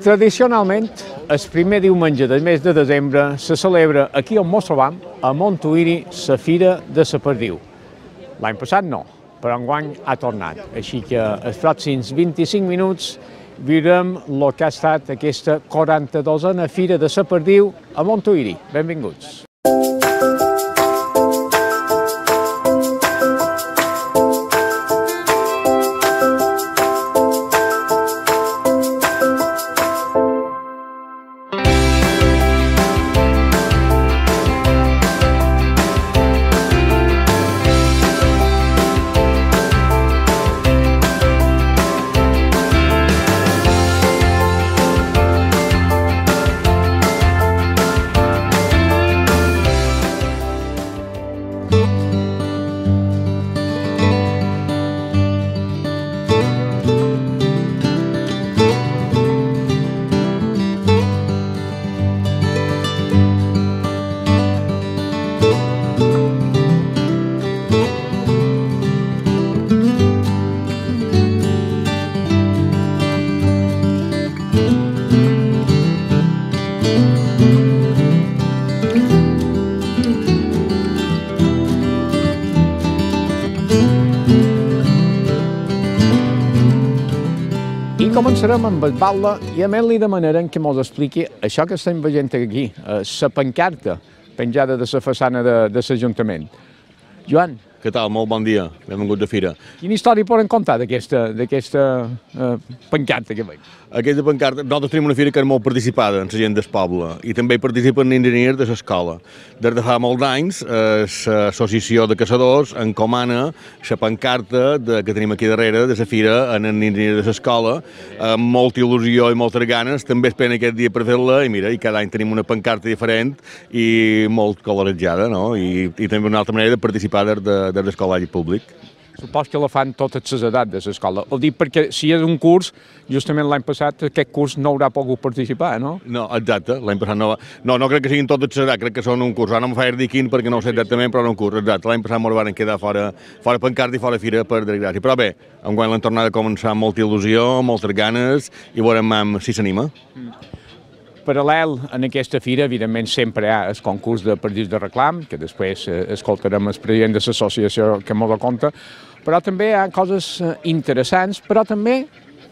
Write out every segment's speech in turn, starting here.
Tradicionalment, el primer diumenge del mes de desembre se celebra aquí on mos trobam, a Montuïri, la Fira de la Perdiu. L'any passat no, però enguany ha tornat. Així que els pròxims 25 minuts viurem el que ha estat aquesta 42a Fira de la Perdiu a Montuïri. Benvinguts. Començarem amb el batle i a més li demanarem que ens expliqui això que estem veient aquí, la pancarta penjada de la façana de l'Ajuntament. Joan. Què tal? Molt bon dia. Benvinguts a Fira. Quina història poden contar d'aquesta pancarta que veig? Aquesta pancarta, nosaltres tenim una fira que és molt participada en la gent del poble i també hi participen enginyers de l'escola. Des de fa molts anys, l'associació de caçadors encomana la pancarta que tenim aquí darrere de la fira en enginyers de l'escola, amb molta il·lusió i moltes ganes. També esperen aquest dia per fer-la i mira, i cada any tenim una pancarta diferent i molt colorejada, no? I també una altra manera de participar de l'escolari públic. Supos que la fan totes les edats de l'escola. Ho dic perquè si és un curs, justament l'any passat aquest curs no haurà pogut participar, no? No, exacte, l'any passat no va. No crec que siguin totes les edats, crec que són un curs. Ara no em faig dir quin perquè no ho sé exactament, però no un curs, exacte. L'any passat ens van quedar fora pancarta i fora fira per desgràcia. Però bé, enguany l'han tornat a començar amb molta il·lusió, moltes ganes i veurem si s'anima. Paral·lel en aquesta fira, evidentment, sempre hi ha el concurs de perdius de reclam, que després escoltarem el president de l'associació que m'ho conta, però també hi ha coses interessants, però també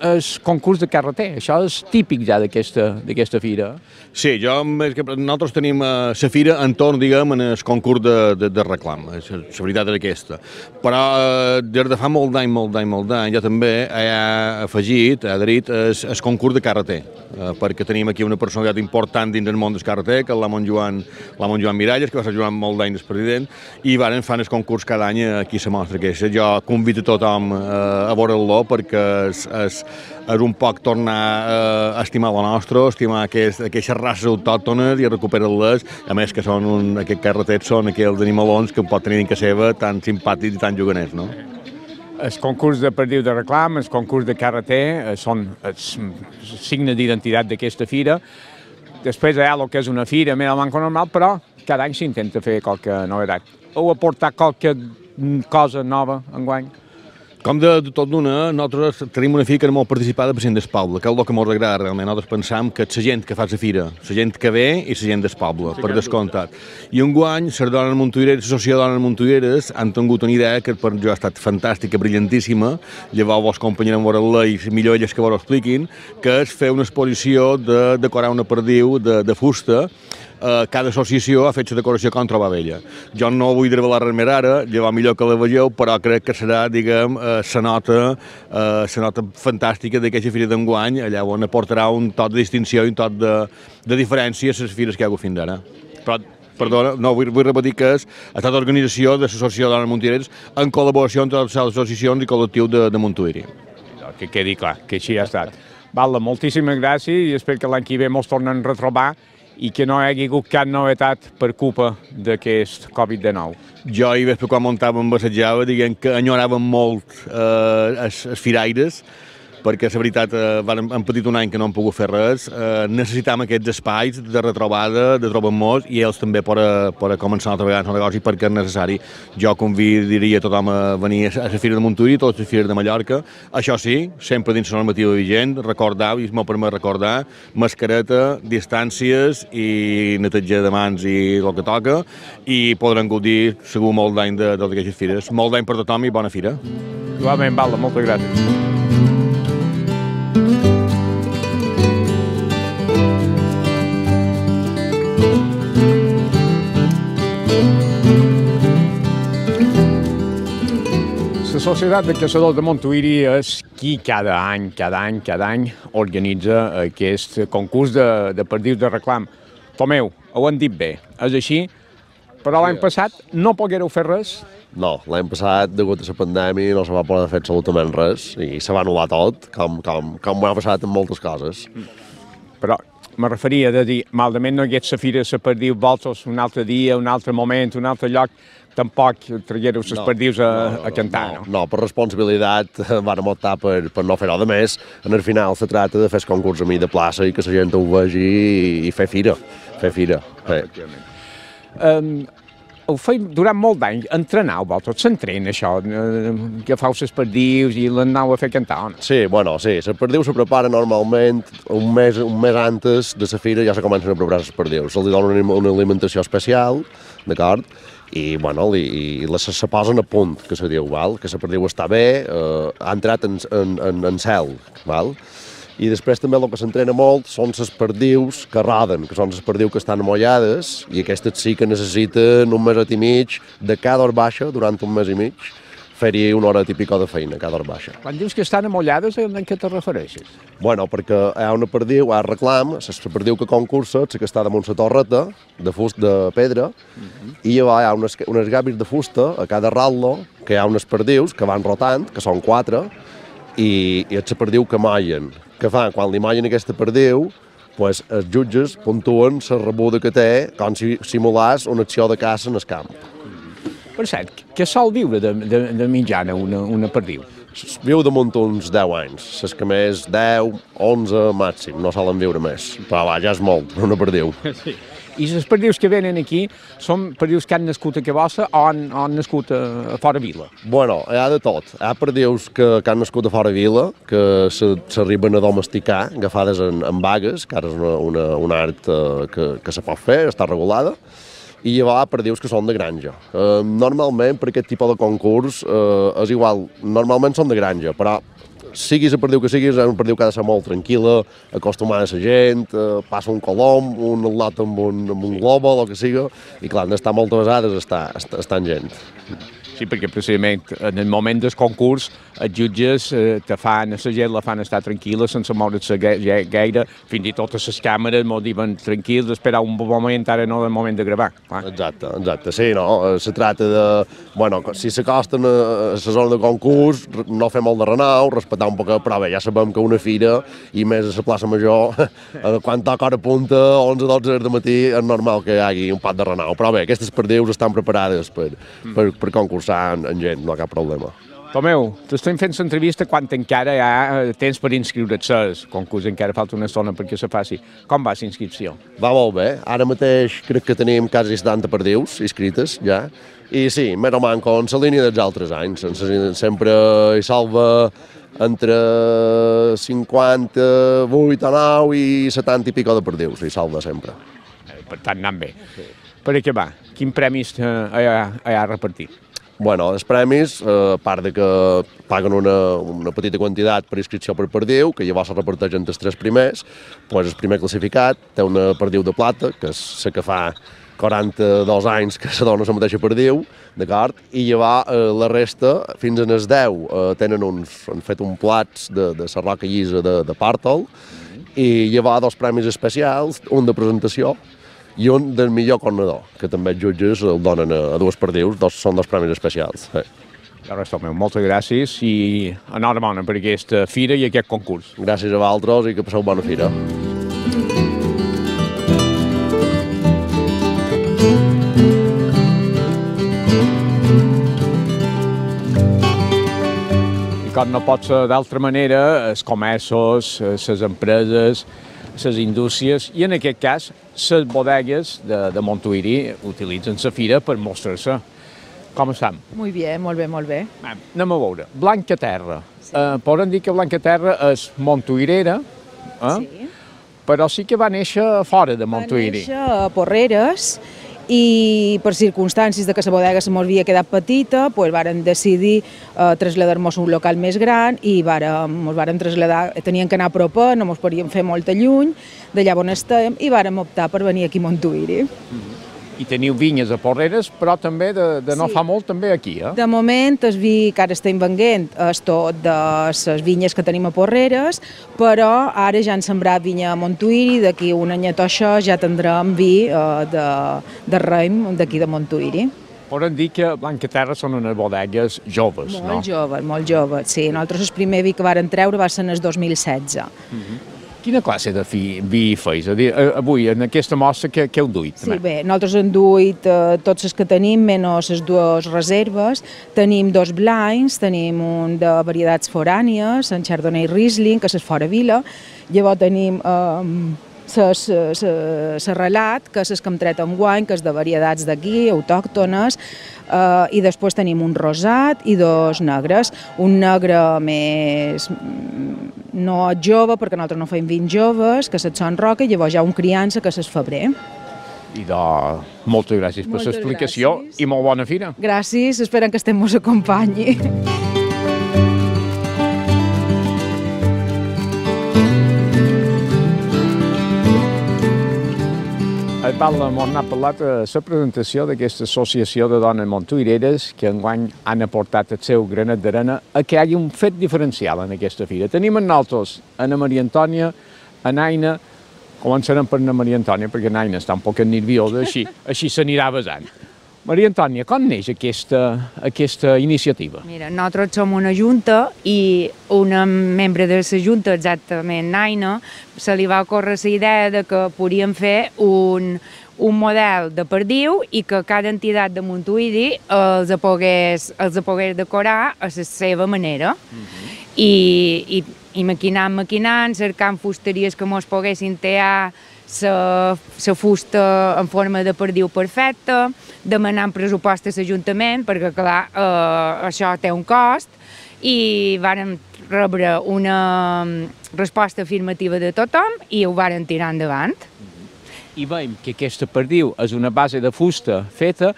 el concurs de carreter. Això és típic ja d'aquesta fira. Sí, nosaltres tenim la fira entorn, diguem, en el concurs de reclam. La veritat és aquesta. Però des de fa molt d'any, ja també ha afegit, ha adherit el concurs de carreter, perquè tenim aquí una personalitat important dins del món del carreter, que és l'Amon Joan Miralles, que va ser durant molt d'anys el president, i van fan el concurs cada any aquí a la mostra aquesta. Jo convido a tothom a veure-lo perquè és un poc tornar a estimar la nostra, estimar aquestes races autòctones i a recuperar-les, a més que aquests carreters són aquells animalons que pot tenir en casa seva tan simpàtics i tan juganers, no? El concurs de perdiu de reclam, el concurs de carreter són els signes d'identitat d'aquesta fira. Després hi ha el que és una fira més al manco normal, però cada any s'intenta fer qualque novetat. Heu aportat qualque cosa nova enguany? Com de tot d'una, nosaltres tenim una fira que és molt participada per gent del poble, que és el que ens agrada realment. Nosaltres pensam que la gent que fa la fira, la gent que ve i la gent del poble, per descomptat. I enguany, les dones montuïreres, l'associació de dones montuïreres, han tingut una idea que per jo ha estat fantàstica, brillantíssima, llavors vos acompanyarem a veure-la i millor elles que vos ho expliquin, que és fer una exposició de decorar una perdiu de fusta. Cada associació ha fet la decoració com troba ella. Jo no vull revelar res més ara, llavors millor que la vegeu, però crec que serà, diguem, la nota fantàstica d'aquesta fira d'enguany, allà on aportarà un toc de distinció i un toc de diferència a les fires que hi ha hagut fins ara. Però, perdona, no, vull repetir que ha estat organització de l'Associació de Dones Montuïreres en col·laboració entre les associacions i col·lectiu de Montuïri. Que quedi clar, que així ha estat. Val, moltíssimes gràcies i espero que l'any que ve ens tornem a retrobar i que no hi hagi hagut cap novetat per culpa d'aquest Covid-19. Jo hi vaig quan muntàvem, assajava, diguem que enyoràvem molt els firaires, perquè la veritat hem patit un any que no hem pogut fer res, necessitem aquests espais de retrobada, de trobar-nos, i ells també per començar a treballar en el negoci perquè és necessari. Jo convidaria tothom a venir a la Fira de Montuïri, a totes les fires de Mallorca. Això sí, sempre dins la normativa vigent, recordar, i m'ho permet recordar, mascareta, distàncies i neteja de mans i el que toca, i podran gaudir segur molt d'any de totes aquestes fires. Molt d'any per tothom i bona fira. Igualment, Valda, moltes gràcies. La Societat de Caçadors de Montuïri és qui cada any organitza aquest concurs de perdius de reclam. Tomeu, ho han dit bé, és així, però l'any passat no poguéreu fer res? No, l'any passat, degut a la pandèmia, no se va poder fer absolutament res i se va anul·lar tot, com ho ha passat amb moltes coses. Però me referia a dir, malament no hagués la fira de perdius, vols un altre dia, un altre moment, un altre lloc, tampoc traguéreu les perdius a cantar, no? No, per responsabilitat vam optar per no fer res de més. En el final se tracta de fer el concurs a mi de plaça i que la gent ho vegi i fer fira. Ho feim durant molt d'anys, entrenau, vosaltres s'entrena això, agafau les perdius i l'anau a fer cantar, o no? Sí, les perdius se preparen normalment un mes antes de la fira, ja se comencen a preparar les perdius. Se'ls dona una alimentació especial, d'acord? I se posen a punt, que se diu, que la perdiu està bé, ha entrat en cel, val? I després també el que s'entrena molt són les perdius que roden, que són les perdius que estan amollades, i aquestes sí que necessiten un meset i mig de cada hora baixa, durant un mes i mig, fer-hi una hora típica de feina, cada hora baixa. Quan dius que estan amollades, a què te refereixes? Bueno, perquè hi ha una perdiu, hi ha reclam, la perdiu que concursa, la que està damunt la torreta, de fusta de pedra, i llavors hi ha unes gàbis de fusta a cada ratlo, que hi ha unes perdius que van rotant, que són 4, i és la perdiu que mollen. Què fan? Quan li mollen aquesta perdiu, els jutges puntuen la rebuda que té com si simulàs una acció de caça en el camp. Per cert, què sol viure de mitjana una perdiu? Viu damunt uns 10 anys, les que més 10, 11 màxim, no solen viure més, però ja és molt, una perdiu. Sí. I les perdius que venen aquí són perdius que han nascut a Cabossa o han nascut a fora vila? Bueno, hi ha de tot. Hi ha perdius que han nascut a fora vila, que s'arriben a domesticar, agafades en vagues, que ara és un art que se pot fer, està regulada, i llavors hi ha perdius que són de granja. Normalment, per aquest tipus de concurs, és igual, normalment són de granja, però siguis la perdiu que siguis, és una perdiu que ha de ser molt tranquil·la, acostumada a la gent, passa un colom, un al·lot amb un globo, el que siga, i clar, han d'estar moltes vegades estant gent. Sí, perquè precisament en el moment del concurs els jutges la gent la fan estar tranquil·la sense moure's gaire, fins i tot a les càmeres m'ho diuen tranquils, esperar un bon moment, ara no és el moment de gravar. Exacte, sí, no, se tracta de, bueno, si s'acosten a la zona de concurs, no fer molt de renou, respectar un poc, però bé, ja sabem que una fira, i més a la plaça Major, quan toca hora punta, 11-12 del matí, és normal que hi hagi un pat de renou, però bé, aquestes perdius estan preparades per concursar en gent, no hi ha cap problema. Tomeu, t'estem fent l'entrevista quan encara hi ha temps per inscriure't al concurs, encara falta una estona perquè se faci. Com va la inscripció? Va molt bé, ara mateix crec que tenim quasi 70 perdius inscrites ja, i sí, més o manco en la línia dels altres anys, sempre hi salva entre 58 o 9 i 70 i pico de perdius, hi salva sempre. Per tant, anant bé. Per què va? Quins premis hi ha a repartir? Bueno, els premis, a part de que paguen una petita quantitat per inscripció per perdiu, que llavors se reparteix entre els 3 primers, doncs el primer classificat té una perdiu de plata, que és la que fa 42 anys que se dona la mateixa perdiu, d'acord? I llavors la resta, fins en els 10, han fet un plats de la roca llisa de Pàrtol, i llavors 2 premis especials, un de presentació, i un del millor cornador, que també els jutges el donen a 2 perdius, són 2 premis especials. Res, Tomeu, moltes gràcies i enhorabona per aquesta fira i aquest concurs. Gràcies a vosaltres i que passeu bona fira. com no pot ser d'altra manera, els comerços, les empreses, les indústries i, en aquest cas, les bodegues de Montuïri utilitzen la fira per mostrar-se. Com estem? Molt bé, molt bé, molt bé. Anem a veure. Blancaterra. Podem dir que Blancaterra és montuïrera, Sí. però sí que va néixer fora de Montuïri. Va néixer a Porreres i per circumstàncies de que la bodega se mos havia quedat petita, doncs vàrem decidir traslladar-nos a un local més gran i mos vàrem traslladar, teníem que anar a proper, no mos podíem fer molta lluny, d'allà on estem, i vàrem optar per venir aquí a Montuïri. I teniu vinyes a Porreres, però també de no Sí. fa molt també aquí, De moment, el vi que ara estem venent és tot de les vinyes que tenim a Porreres, però ara ja han sembrat vinya a Montuïri, d'aquí un anyet o això ja tindrem vi de raïm d'aquí de Montuïri. Podem dir que Blancaterra són unes bodegues joves, no? Molt joves, sí. Nosaltres el primer vi que varen treure va ser en el 2016. Quina classe de vi feis? A dir, avui, en aquesta mostra, què heu duit? Sí, bé, nosaltres hem duit tots els que tenim, menys les dues reserves. Tenim dos blinds, tenim un de varietats forànies, en Chardonnay Riesling, que és fora vila. Llavors tenim relat, que és el que hem tret enguany, que és de varietats d'aquí, autòctones, i després tenim un rosat i dos negres. Un negre més no jove, perquè nosaltres no fem vins joves, que és el Son Roca, i llavors hi ha un criança, que és el Febrer. Idò, moltes gràcies per l'explicació i molt bona fira. Gràcies, esperem que estem mos acompanyi. El Paula m'ha parlat de la presentació d'aquesta associació de dones montuïreres que enguany han aportat el seu granet d'arena a que hi hagi un fet diferencial en aquesta fira. Tenim en nosaltres Ana Maria Antònia, a Naina, començarem per Ana Maria Antònia perquè Naina està un poc nerviosa, així s'anirà basant. Maria Antònia, com neix aquesta iniciativa? Mira, nosaltres som una junta i una membre de la junta, exactament Naina, se li va ocórrer la idea de que podíem fer un model de perdiu i que cada entitat de Montuïri els pogués decorar a la seva manera. I maquinant, cercant fusteries que mos poguessin tear la fusta en forma de perdiu perfecta, demanant pressupost a l'Ajuntament, perquè, clar, això té un cost, i vàrem rebre una resposta afirmativa de tothom i ho vàrem tirar endavant. I veiem que aquesta perdiu és una base de fusta feta,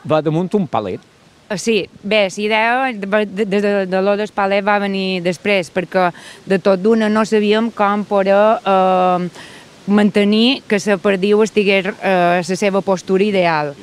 va damunt un palet. Sí, bé, la idea de lo del palet va venir després, perquè de tot d'una no sabíem com poder mantenir que la perdiu estigués a la seva postura ideal.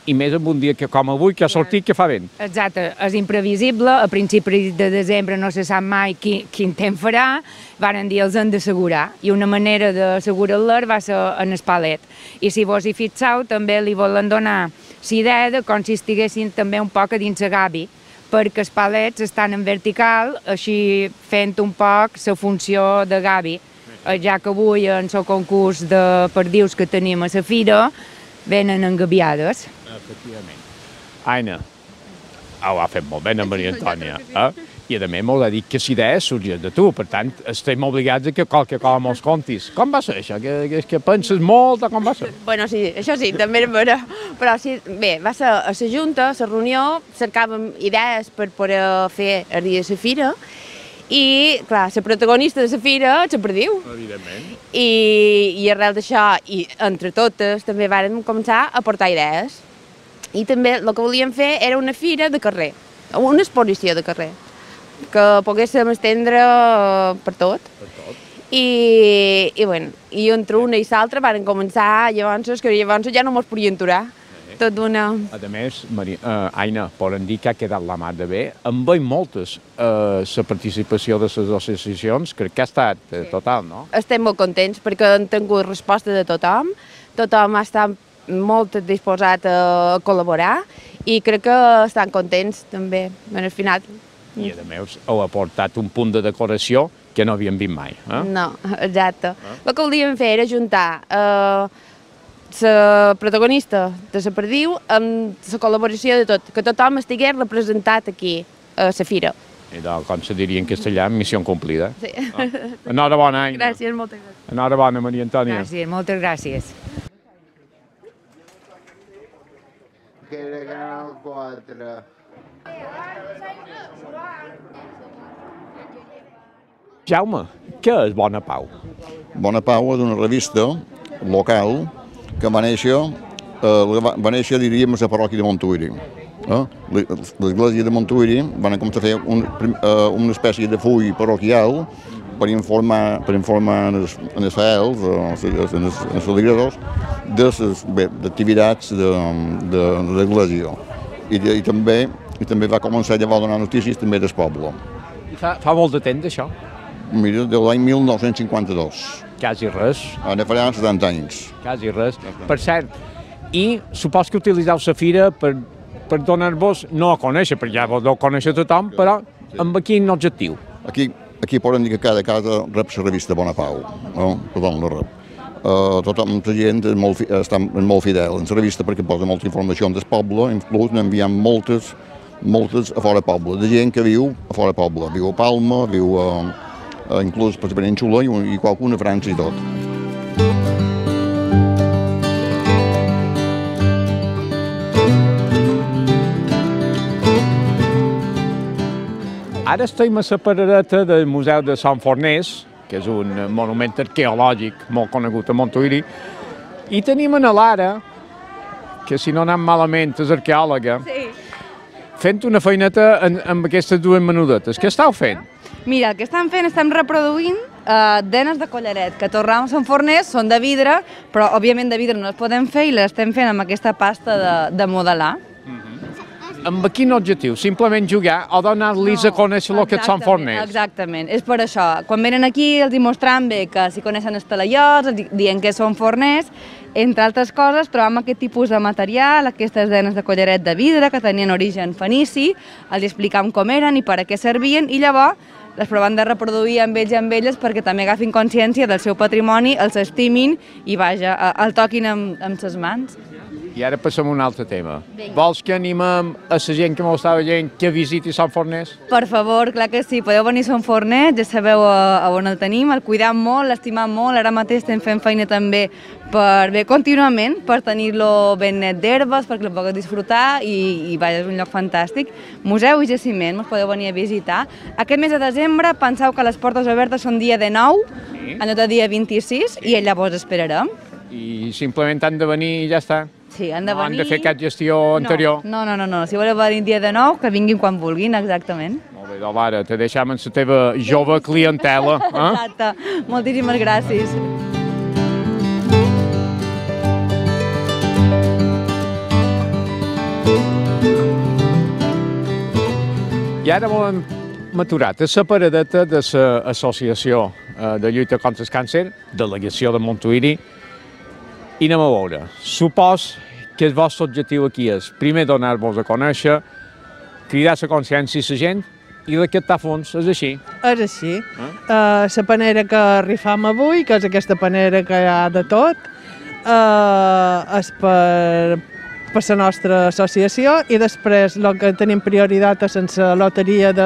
I més en un dia com avui, que ha sortit, que fa vent. Exacte, és imprevisible, a principis de desembre no se sap mai quin temps farà, varen dir els hem d'assegurar, i una manera d'assegurar-los va ser en el palet. I si vos hi fixeu, també li volen donar la idea de com si estiguessin també un poc a dins la gavi, perquè els palets estan en vertical, així fent un poc la funció de gavi. Ja que avui en el concurs de perdius que tenim a la fira venen engabiades. Efectivament. Aina, ho ha fet molt bé, Ana Maria Antònia. I a més m'ho ha dit que la idea sorgeix de tu, per tant, estem obligats a que qualque cosa mos contis. Com va ser això? Que penses molt o com va ser? Bueno, sí, això sí, també era però sí, bé, va ser a la Junta, a la reunió, cercàvem idees per poder fer el dia de la fira, i, clar, la protagonista de la fira és la perdiu. Evidentment. I arrel d'això, i entre totes, també vàrem començar a aportar idees. I també el que volíem fer era una fira de carrer, una exposició de carrer, que poguéssim estendre per tot. I entre una i l'altra varen començar, llavors ja no mos podien aturar. Tot d'una... A més, Aina, podem dir que ha quedat la mar de bé. En veiem moltes la participació de les associacions, crec que ha estat total, no? Estem molt contents perquè hem tingut resposta de tothom, tothom ha estat molt disposat a col·laborar i crec que estan contents també, al final. I a més heu aportat un punt de decoració que no havíem vist mai. No, exacte. El que volíem fer era juntar la protagonista de la perdiu amb la col·laboració de tot, que tothom estigués representat aquí a la fira. I com se diria en castellà, missió complida. Sí. Enhorabona, Aina. Gràcies, moltes gràcies. Enhorabona, Maria Antònia. Gràcies, moltes gràcies. Canal 4. Jaume, què és Bona Pau? Bona Pau és una revista local que va néixer, diríem, a la parròquia de Montuïri. L'església de Montuïri van començar a fer una espècie de full parroquial per informar els fidels, els feligresos, de les activitats de l'església. I també va començar llavors a donar notícies també del poble. Fa molt de temps, això? Mira, de l'any 1952. Quasi res. Ara farà 70 anys. Quasi res. Per cert, i supos que utilitzeu la fira per donar-vos, no a conèixer, perquè ja vos deu conèixer tothom, però amb quin objectiu? Aquí poden dir que cada casa rep la revista Bona Pau, no? Tothom la rep. Tothom, la gent està molt fidel en la revista perquè posa molta informació del poble, inclús n'enviem moltes a fora poble, de gent que viu a fora poble, viu a Palma, viu inclús per la Península i qualcuna a França i tot. Ara estem a la paradeta del Museu de Sant Forners, que és un monument arqueològic molt conegut a Montuïri, i tenim a Lara, que si no anem malament és arqueòloga, fent una feineta amb aquestes dues menudetes. Què estàu fent? Mira, el que estem fent, estem reproduint denes de collaret, que tornem a Sant Forners, són de vidre, però òbviament de vidre no les podem fer i les estem fent amb aquesta pasta de modelar. Amb quin objectiu? Simplement jugar o donar-los a conèixer el que és Sant Forners? Exactament, és per això. Quan venen aquí els mostrem bé que si coneixen els talaiots, dient que són forners, entre altres coses trobem aquest tipus de material, aquestes denes de collaret de vidre que tenien origen fenici, els explicam com eren i per a què servien i llavors les provem de reproduir amb ells i amb elles perquè també agafin consciència del seu patrimoni, els estimin i vaja, el toquin amb ses mans. I ara passem a un altre tema. Vols que animem a la gent que m'ho està veient que visiti Sant Forners? Per favor, clar que sí. Podeu venir a Sant Forners, ja sabeu on el tenim, el cuidam molt, l'estimam molt. Ara mateix estem fent feina també contínuament per tenir-lo ben net d'herbes, perquè el pugueu disfrutar i vaja, és un lloc fantàstic. Museu i jaciment, us podeu venir a visitar. Aquest mes de desembre penseu que les portes obertes són dia 19, en lloc de dia 26, i llavors esperarem. I simplement han de venir i ja està? Sí, han de venir... No han de fer cap gestió anterior? No. Si voleu venir dia de nou, que vinguin quan vulguin, exactament. Molt bé, doncs ara te deixem amb la teva jove clientela. Exacte. Moltíssimes gràcies. I ara hem aturat a la paradeta de l'Associació de Lluita contra el Càncer, delegació de Montuïri, i anem a veure. Supos que el vostre objectiu aquí és, primer, donar-vos a conèixer, cridar la consciència a la gent i recaptar fons, és així? És així. La panera que rifam avui, que és aquesta panera que hi ha de tot, és per la nostra associació i després el que tenim prioritat és en la loteria de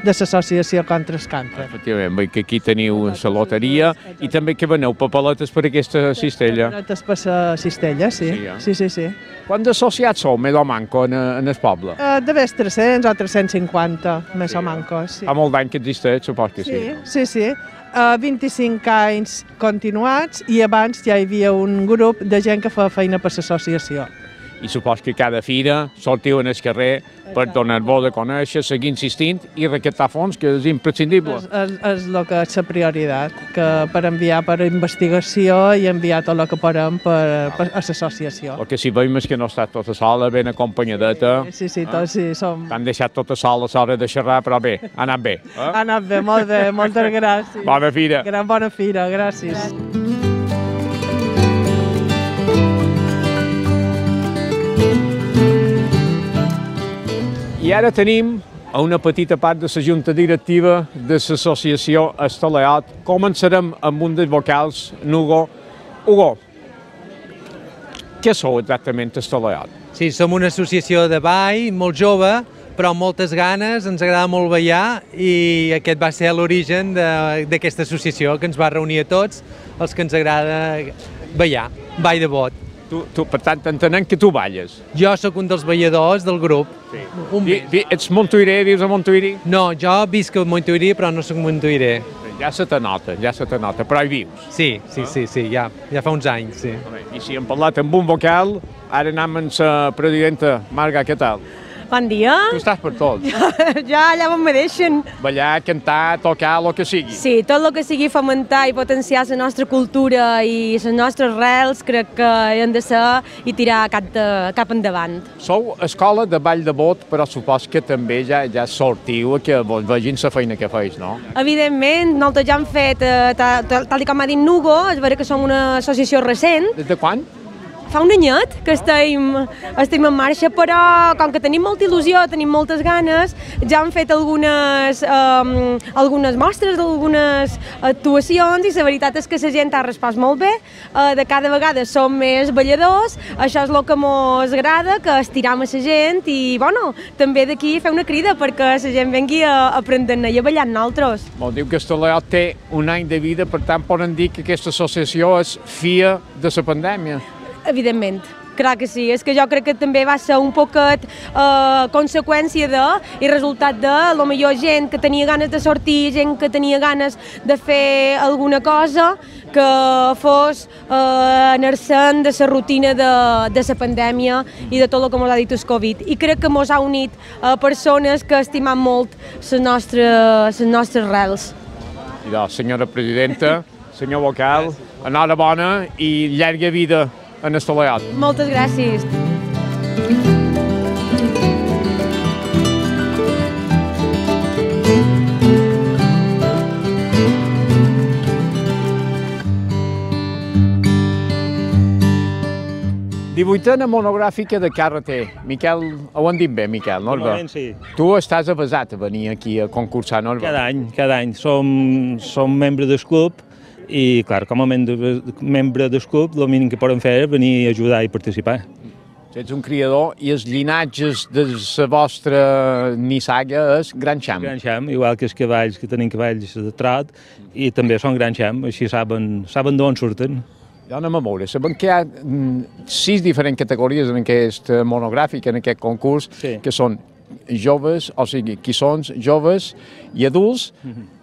l'associació contra el càncer. Efectivament, veig que aquí teniu la loteria i també que veneu papeletes per aquesta cistella. Papeletes per la cistella, sí. Sí. Quants associats sou, més o manco, en el poble? De més 300 o 350, més o manco, sí. Fa molt d'any que existeix, supos que sí. Sí. 25 anys continuats i abans ja hi havia un grup de gent que feia feina per l'associació. I supos que cada fira sortiu en el carrer per donar-vos a conèixer, seguir insistint i recaptar fons, que és imprescindible. És el que és la prioritat, que per enviar per investigació i enviar tot el que podem a l'associació. El que sí veiem és que no està tota sola, ben acompanyadeta. Sí, tots sí som. T'han deixat tota sola a l'hora de xerrar, però bé, ha anat bé. Ha anat bé, molt bé, moltes gràcies. Bona fira. Bona fira, gràcies. I ara tenim una petita part de la junta directiva de l'associació Estaleot. Començarem amb un dels vocals, Hugo. Hugo, què sou exactament Estaleot? Sí, som una associació de ball molt jove, però amb moltes ganes, ens agrada molt ballar i aquest va ser l'origen d'aquesta associació que ens va reunir a tots els que ens agrada ballar, ball de bot. Per tant, entenem que tu balles. Jo sóc un dels balladors del grup. Ets montuiré, vius a Montuïri? No, jo visc a Montuïri, però no sóc montuiré. Ja se te nota, però hi vius. Sí, ja fa uns anys, sí. I si hem parlat amb un vocal, ara anem amb la presidenta. Marga, què tal? Bon dia. Tu estàs per tot. Ja allà on me deixen. Ballar, cantar, tocar, el que sigui. Sí, tot el que sigui fomentar i potenciar la nostra cultura i les nostres rels crec que hem de ser i tirar cap endavant. Sou escola de ball de bot, però supos que també ja sortiu a que vos vegin la feina que feis, no? Evidentment, nosaltres ja hem fet, tal com ha dit Nugo, és vera que som una associació recent. Des de quan? Fa un anyet que estem en marxa, però com que tenim molta il·lusió, tenim moltes ganes, ja hem fet algunes mostres d'algunes actuacions i la veritat és que la gent ha respost molt bé, de cada vegada som més balladors, això és el que ens agrada, que estiram a la gent i bueno, també d'aquí fer una crida perquè la gent vengui a aprendre i a ballar amb nosaltres. Diu que Estaleot té un any de vida, per tant poden dir que aquesta associació és fia de la pandèmia. Evidentment, clar que sí. És que jo crec que també va ser un poquet conseqüència i resultat de, potser gent que tenia ganes de sortir, gent que tenia ganes de fer alguna cosa que fos anar-se'n de la rutina de la pandèmia i de tot el que ens ha dit el Covid. I crec que ens ha unit persones que estimem molt les nostres rels. I doncs, senyora presidenta, senyor vocal, enhorabona i llarga vida en Estaleot. Moltes gràcies. 18a monogràfica de Carreter. Miquel, ho han dit bé, Miquel, no? Normalment sí. Tu estàs avesat a venir aquí a concursar, no? Cada any. Som membre del club i, clar, com a membre del club, el mínim que podem fer és venir a ajudar i participar. Ets un criador i els llinatges de la vostra nissaga és Gran Xam. Gran Xam, igual que els cavalls, que tenim cavalls de trot, i també són Gran Xam, així saben d'on surten. Jo anem a veure, sabem que hi ha 6 diferents categories en aquest monogràfic, en aquest concurs, que són joves, o sigui, qui són joves i adults,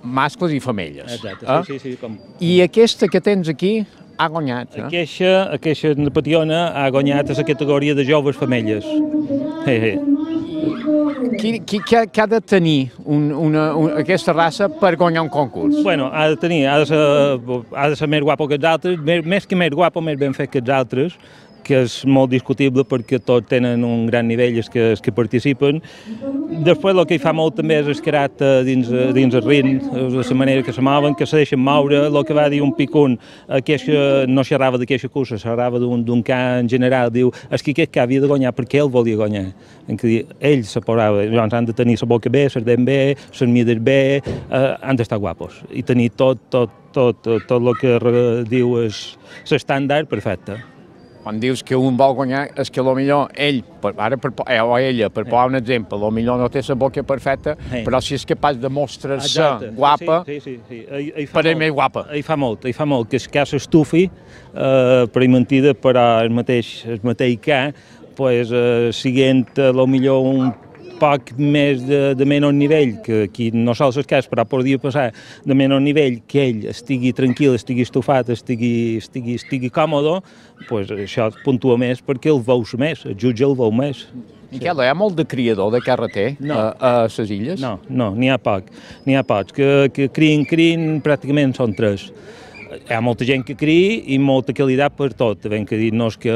mascles i femelles. Exacte, sí. I aquesta que tens aquí ha guanyat. Aquesta Pationa ha guanyat a la categoria de joves femelles. Què ha de tenir aquesta raça per guanyar un concurs? Bueno, ha de ser més guapo que els altres, més que més guapo, més ben fet que els altres, que és molt discutible perquè tots tenen un gran nivell els que participen. Després el que hi fa molt també és el caràcter dins el ritme, de la manera que se mouen, que se deixen moure. El que va dir un picun, no xerrava d'aquesta cursa, xerrava d'un cant en general, diu, és que aquest havia de guanyar perquè ell volia guanyar. Ell se posava, llavors han de tenir la boca bé, les dents bé, les mides bé, han d'estar guapos i tenir tot el que diu l'estàndard perfecte. Quan dius que un vol guanyar, és que potser ell, o ella, per posar un exemple, potser no té la boca perfecta, però si és capaç de mostrar-se guapa, per ell més guapa. Hi fa molt, que es que s'estufi per mentida, però el mateix que, siguent potser un poc més de menys nivell, que aquí no sols és cas, però podria passar de menys nivell, que ell estigui tranquil, estigui estufat, estigui còmode, això puntua més perquè el veus més, el jutge el veu més. Miquel, hi ha molt de criador de carreter a les illes? No, n'hi ha pocs, que crien pràcticament són 3. Hi ha molta gent que cria i molta qualitat per tot, ben que dir, no és que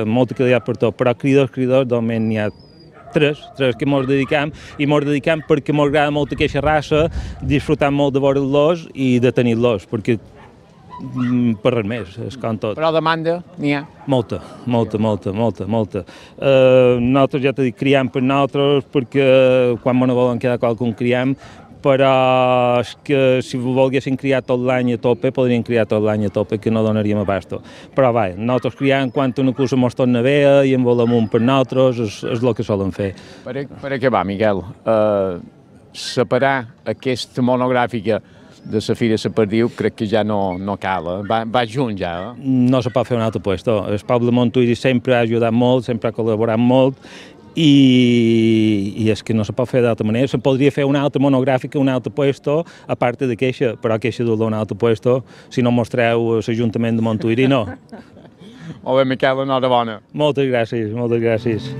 molta qualitat per tot, però criadors, normalment n'hi ha 3 que ens dedicam, i ens dedicam perquè ens agrada molt aquesta raça, disfrutant molt de veure'ls i de tenir-los, perquè per res més, és com tot. Però demanda n'hi ha? Molta. Nosaltres, ja t'he dit, criam per nosaltres, perquè quan ens volen quedar qualcun criam, però és que si volguessin criar tot l'any a tope, podrien criar tot l'any a tope, que no donaríem abasto. Però va, nosaltres criam quan una cosa mos torna bé i en volem un per nosaltres, és el que solen fer. Per acabar, Miquel, separar aquesta monogràfica de la Fira de la Perdiu crec que ja no cal, va junt ja. No se pot fer un altre puesto. El poble de Montuïri sempre ha ajudat molt, sempre ha col·laborat molt, i és que no se pot fer d'altra manera. Se podria fer una altra monogràfica, un altre puesto, a part de queixa, però queixa d'un altre puesto, si no mostreu l'Ajuntament de Montuïri, no. Molt bé, Miquel, enhorabona. Moltes gràcies, moltes gràcies.